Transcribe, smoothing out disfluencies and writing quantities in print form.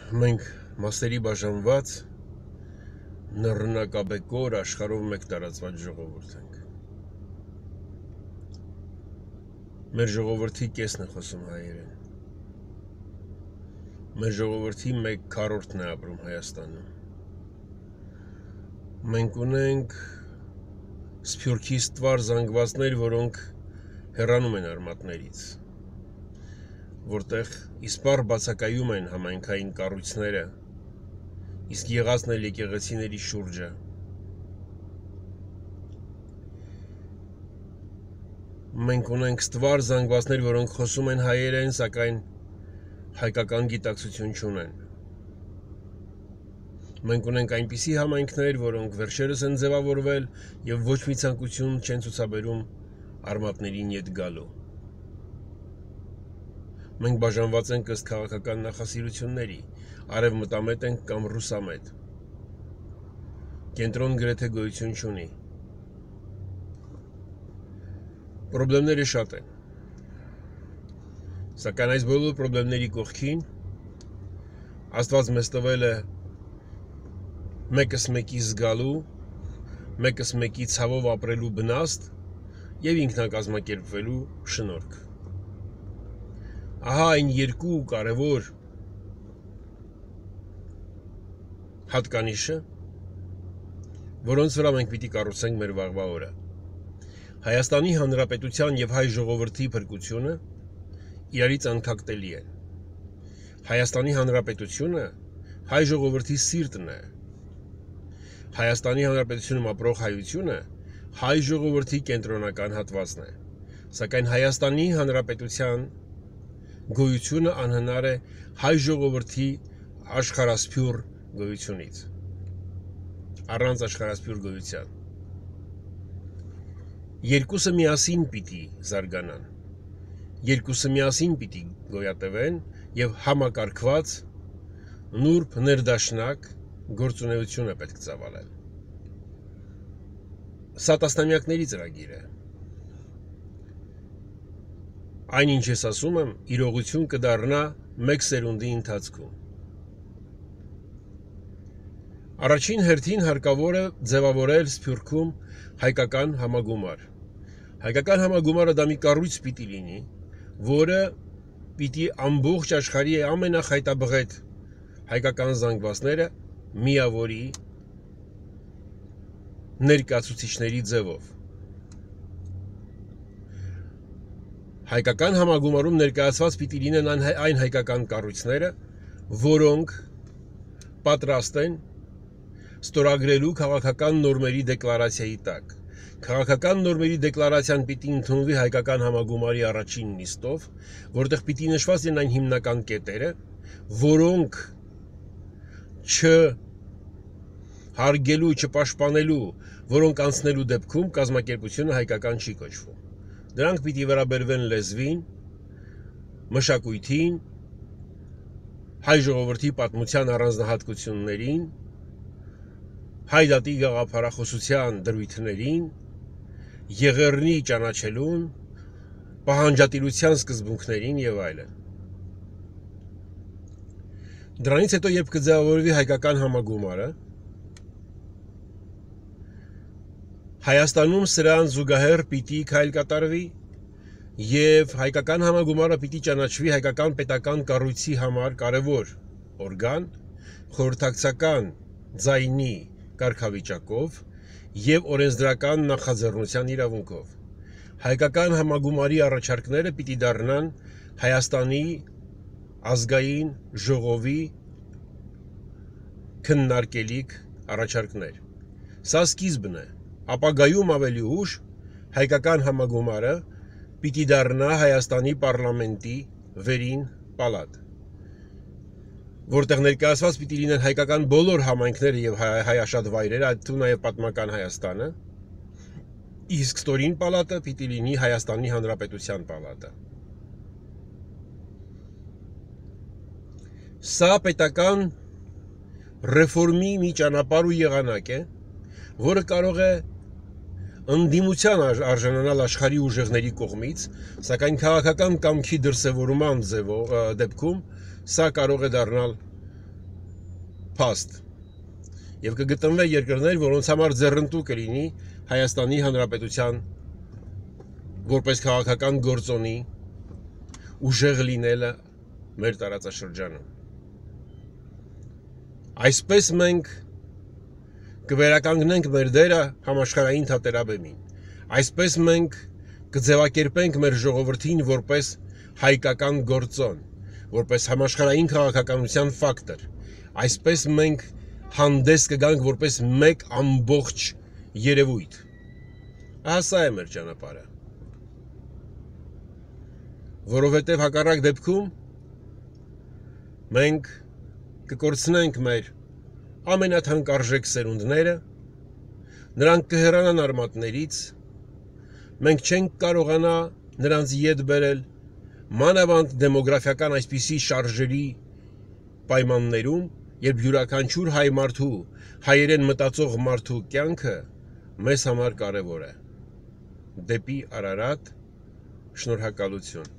Մենք մասերի բաժանված նռնակաբեկոր աշխարհով մեկ տարածված ժողովուրդ ենք։ Մեր ժողովրդի կեսն է խոսում հայերեն։ Մեր ժողովրդի 1/4-ն է ապրում Հայաստանում։ Մենք ունենք սփյուռքի ստվար զանգվածներ, որոնք հեռանում են արմատներից, որտեղ իսպառ բացակայում են համայնքային կառույցները, իսկ եղածն էլ եկեղեցիների շուրջը։ Մենք ունենք ստվար զանգվածներ, որոնք խոսում են հայերեն, սակայն հայկական գիտակցություն չունեն։ Մենք ունենք այնպիսի համայնքներ, որոնք վերջերս են ձևավորվել եւ ոչ մի ցանկություն չեն ցուցաբերում արմատներին ետ գալու։ Մենք բաժանված ենք ըստ քաղաքական նախասիրությունների, արևմտամետ ենք կամ ռուսամետ։ Կենտրոն գրեթե գոյություն չունի։ Պրոբլեմները շատ են։ Սակայն այս բոլոր պրոբլեմների կողքին Աստված մեզ տվել է մեկս մեկի զգալու, մեկս մեկի ցավով ապրելու բնաստ եւ ինքնակազմակերպվելու շնորհք։ Ահա այն երկու կարևոր հատկանիշը, որոնց վրա մենք պիտի կառուցենք մեր վաղվա օրը։ Հայաստանի Հանրապետության եւ հայ ժողովրդի փրկությունը իրարից անքակտելի են։ Հայաստանի Հանրապետությունը հայ ժողովրդի սիրտն է։ Հայաստանի Հանրապետությունում ապրող հայությունը հայ ժողովրդի կենտրոնական հատվածն է։ Սակայն Հայաստանի Հանրապետության գոյությունը անհնար է հայ ժողովրդի աշխարհասփյուռ գոյությունից։ Առանց աշխարհասփյուռ գոյության երկուսը միասին պիտի զարգանան, երկուսը միասին պիտի գոյատևեն եւ համակարգված նուրբ ներդաշնակ գործունեություն է պետք ծավալել։ Սա տասնամյակների ծրագիր է։ Այն ինչ ես ասում եմ, իրողություն կդառնա մեկ սերունդի ընթացքում։ Առաջին հերթին հարկավոր է ձևավորել Սփյուռքում հայկական համագումար։ Հայկական համագումարը դա մի կառույց պիտի լինի, որը պիտի ամբողջ աշխարհի ամենախայտաբղետ հայկական զանգվածները միավորի ներկայացուցիչների ձևով։ Հայկական համագումարում ներկայացված պիտի լինեն այն հայկական կառույցները, որոնք պատրաստ են ստորագրելու քաղաքական նորմերի դեկլարացիայի տակ։ Քաղաքական նորմերի դեկլարացիան պիտի ընդունվի հայկական համագումարի առաջին նիստով, որտեղ պիտի նշված լինեն այն հիմնական կետերը, որոնք չհարգելու, չպաշտպանելու, որոնք անցնելու դեպքում կազմակերպությունը հայկական չի կոչվում։ Դրանք պիտի վերաբերվեն լեզվին, մշակույթին, հայ ժողովրդի պատմության առանձնահատկություններին, հայ դատի գաղափարախոսության դրույթներին, եղեռնի ճանաչելուն, պահանջատիրության սկզբունքներին եւ այլն։ Դրանից հետո, երբ կձևավորվի հայկական համագումարը, Հայաստանում սրան զուգահեռ պիտի քայլ կատարվի եւ հայկական համագումարը պիտի ճանաչվի հայկական պետական կառույցի համար կարևոր օրգան, խորհրդակցական ձայնի կարգավիճակով եւ օրենսդրական նախաձեռնության իրավունքով։ Հայկական համագումարի առաջարկները պիտի դառնան Հայաստանի ազգային ժողովի քննարկելիք առաջարկներ։ Սա սկիզբն է։ Ապագայում ավելի ուշ հայկական համագումարը պիտի դառնա Հայաստանի պարլամենտի վերին պալատ, որտեղ ներկայացված պիտի լինեն հայկական բոլոր համայնքները եւ հայաշատ վայրերը, այդ թվում նաեւ պատմական Հայաստանը, իսկ ստորին պալատը պիտի լինի Հայաստանի Հանրապետության պալատը։ Սա պետական ռեֆորմի մի ճանապարհ ու եղանակ է, որը կարող է ընդդիմության արժանանալ աշխարհի ուժեղների կողմից, սակայն քաղաքական կամքի դրսևորման դեպքում սա կարող է դառնալ փաստ եւ կգտնվե երկրներ, որոնց համար ձեռնտու կլինի Հայաստանի Հանրապետության որպես քաղաքական գործոնի ուժեղ լինելը մեր տարածաշրջանում։ Այսպես մենք կվերականգնենք մեր դերը համաշխարհային թատերաբեմին։ Այսպես մենք կձևակերպենք մեր ժողովրդին որպես հայկական գործոն, որպես համաշխարհային քաղաքականության ֆակտոր։ Այսպես մենք հանդես կգանք որպես մեկ ամբողջ երևույթ։ Սա է մեր ճանապարհը։ Որովհետև հակառակ դեպքում մենք կկորցնենք մեր ամենաթանկարժեք սերունդները, նրանք կհեռանան արմատներից, մենք չենք կարողանա նրանց ետ բերել մանավանդ դեմոգրաֆիական այսպիսի շարժերի պայմաններում, երբ յուրաքանչյուր հայ մարդու, հայերեն մտածող մարդու կյանքը մեզ համար կարևոր է։ Դեպի Արարատ, շնորհակալություն։